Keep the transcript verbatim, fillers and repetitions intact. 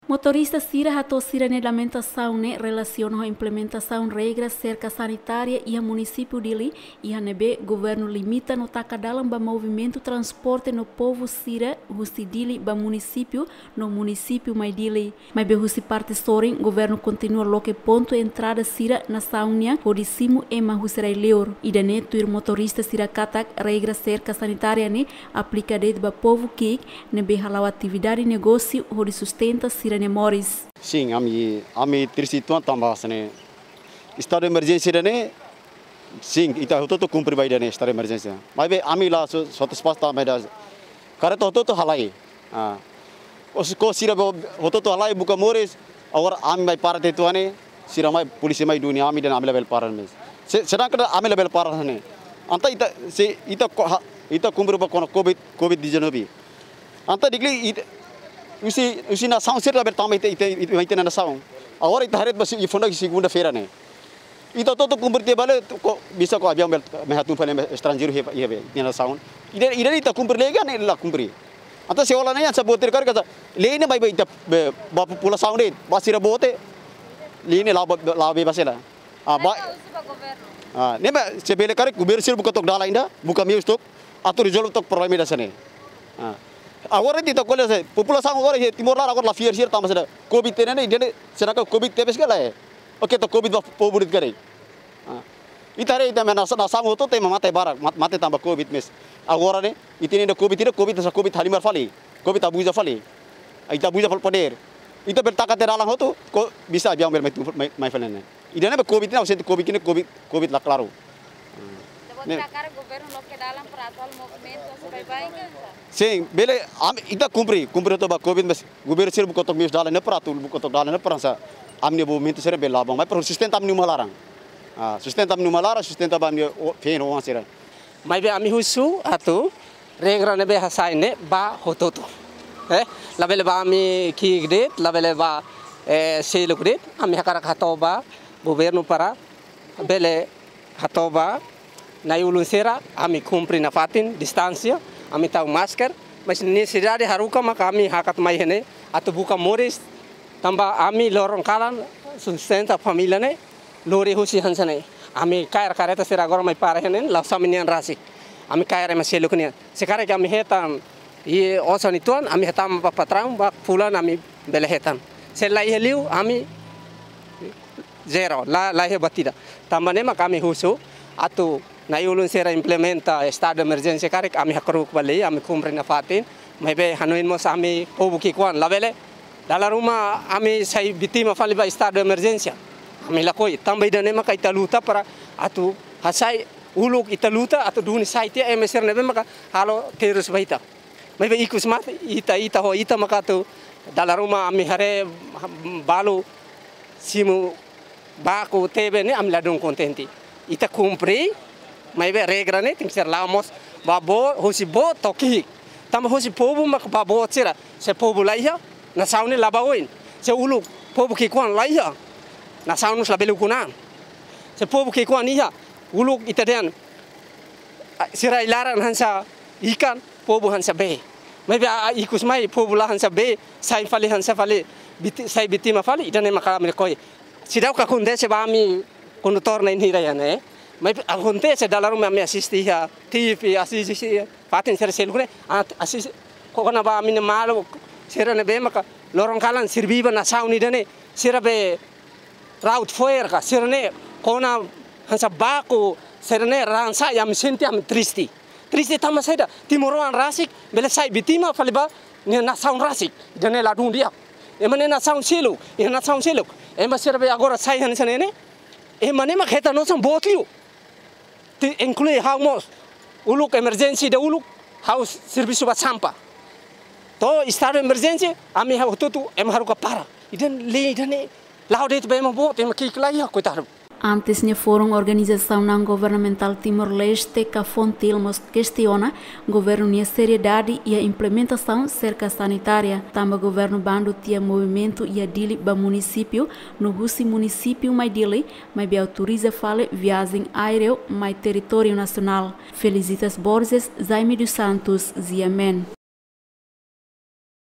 Motorista sira hato'o sira-nia lamentasaun ne'e relasiona ho implementasaun regra serka sanitária iha munisípiu Dili, iha ne'ebé governu limita no taka dalan ba movimentu transporte no povu sira husi Dili ba munisípiu no munisípiu mai Dili. Maibé husi parte sorin, governu kontinua loke pontu entrada sira nasaun nian hodi simu ema husi rai-liur. Ida-ne'e tuir motorista sira katak regra serka sanitária ne'e aplika de'it ba povu ki'ik ne'ebé hala'o atividade negósiu hodi sustenta sira-nia moris. Sin, ami, ami triste uitoan tanba hanesan ne'e. Estadu emerjénsia ida-ne'e, sin, ita hotu-hotu kumpre ba ida-ne'e, estadu emerjénsia. Maibé ami la so, so tes pas tanba ida. Karreta hotu-hotu halai. Ah. Os ko sira bo-, hotu-hotu halai buka moris, agora ami mai para tiha uitoan ne'e, sira mai, polísia mai duni ami dehan ami labele para mós. Se, sedangkan ami labele para ne'e. Entaun ita, se ita ko-, ha, ita kumpre ba kona covid, covid dezanove. Entaun di'ak liu ita, husi, husi nasaun sira labele tama ita, ita, ita, ita nasaun. Agora ita haree ba si, i funda segunda-feira ne'e. Ita hotu-hotu kumpre tiha ba le, ko, bisa ko aviaun bele mai hatún fali estranjeiru iha, iha be, iha nasaun. Ida, ida ita kumpre lei ka ne'e la kumpre. Entaun se hola ne'e hanesan boot ida karik hanesan lei ne'e ba, ba ita, be, ba populasaun de'it, ba sira boot, lei ne'e la'o ba, la'o bebas hela. Ah, ba, ah, ne'e ba, se bele karik governu sira buka took dalan ida, buka meius took, atu rezolve took problema ida hanesan ne'e. Ah. Agora ita ko'alia se, populasaun agora iha Timor laran agora la fiar sira tanba saida, covid ne'e, ne'e, ne'e, será que covid tebes ka lae? Oke, to'o covid ba povu de'it karik. Ah. Ita haree ita-nia nas-, nasaun hotu-hotu ema mate barak, mat-, mate tanba covid mós. Agora ne'e, ita-nia covid, ita-nia covid, hanesan covid halimar fali. Covid abuza fali. Ita abuza fali podér. Ita bele taka tiha dalan hotu, ko bisa aviaun bele mai tu, mai, mai fali ne'e. Ida-ne'e ba covid ne'e, ausente covid ne'e, covid, covid la klaru. Ne'e. Karik governu loke dalan para atu halo movimentu, hanesan baibain ka? Sin, bele, ami, ita kumpre, kumpre hotu ba covid, mas governu sira buka took meius dalan ne'e para atu, buka took dalan ne'e para hanesan ami-nia movimentu sira bele la'o ba, mai para sustenta ami-nia uma laran. Ah, sustenta ami-nia uma laran, sustenta ba ami-nia o-, feen no oan sira. Maibé ami husu atu regra ne'ebé hasai ne'e ba hotu-hotu. Eh, labele ba ami ki'ik de'it, labele ba, eh, seluk de'it, ami hakarak hato'o ba governu para bele hato'o ba na'i-ulun sira, ami kumpre nafatin distánsia, ami tau masker, mas nesesidade haruka maka ami hakat mai iha ne'e atu buka moris, tanba ami loron kalan sustenta família ne'e, lori husi hanesan ne'e. Ami kaer karreta sira agora mai para iha ne'e, la'ós ami-nian rasik. Ami kaer ema seluk nian. Se karik ami hetan, i osan uitoan, ami hetan ba patraun, ba fulan ami bele hetan. Se la iha liu, ami zero, la, la iha buat ida. Tanba ne'e maka ami husu, atu na'i-ulun sira implementa estadu emerjénsia karik, ami hakru'uk ba lei, ami kumpre nafatin, maibé hanoin mós ami povu ki'ikoan, labele dala ruma ami sai vítima fali ba estadu emerjénsia. Ami lakohi, tanba ida-ne'e maka ita luta para atu hasai uluk ita luta atu duni sai tiha ema sira ne'ebé maka halo terus ba ita. Maibé ikus mate, ita, ita ho ita maka atu dala ruma ami haree balu simu baku tebe ne'e ami ladún kontente. Ita kumpre, maibé regra ne'e tenke ser la'o mós ba boot, husi boot to'o ki'ik. Tanba husi povu mak ba boot sira. Se povu la iha, nasaun ne'e la ba oin. Se uluk povu ki'ikoan la iha, nasaun mós labele ukun an. Se povu ki'ikoan iha, uluk ita dehan, ah, sira ai-laran hanesan ikan, povu hanesan bee. Maibé, ah, ah, ikus mai povu la hanesan bee, sai fali hanesan fali, biti-, sai vítima fali, ida-ne'e maka ami lakohi. Seidauk akontese ba ami kondutór na'in hira iha ne'e. Maibé akontese dala ruma ami asiste iha T V, asiste iha fatin sira seluk ne'e, ah, asiste kona-ba ami-nia maluk sira ne'ebé maka loron kalan serbí ba nasaun ida-ne'e, sira be raut fo'er ka, sira-ne'e kona hanesan baku, sira-ne'e raan sa'e, ami sente ami triste. Triste tanba saida, timoroan rasik bele sai vítima fali ba nia nasaun rasik. Ida-ne'e ladún di'ak. Ema nia nasaun seluk, iha nasaun seluk. Ema sira be agora sai hanesan ne'e ne'e, ema ne'e mak hetan osan boot liu. Te inklui ha'u mós. Uluk emerjénsia ida uluk, ha'u servisu ba sampah. To'o estadu emerjénsia, ami ha'u hotu-hotu, ema haruka para. Ida-ne'e, ida-ne'e la'o de'it ba ema boot, ema ki'ik la iha, koitadu. Antes ne'e Forum Organizasaun Naun Governamentál Timor-Leste ka FONGTIL mós kestiona governu nia seriedade iha implementasaun serka sanitária, tanba governu bandu tiha movimentu iha Dili ba munisípiu, no husi munisípiu mai Dili, maibé autoriza fali viajen aéreu mai territóriu nasionál. Felicitas Borges, Jaime dos Santos, G M N.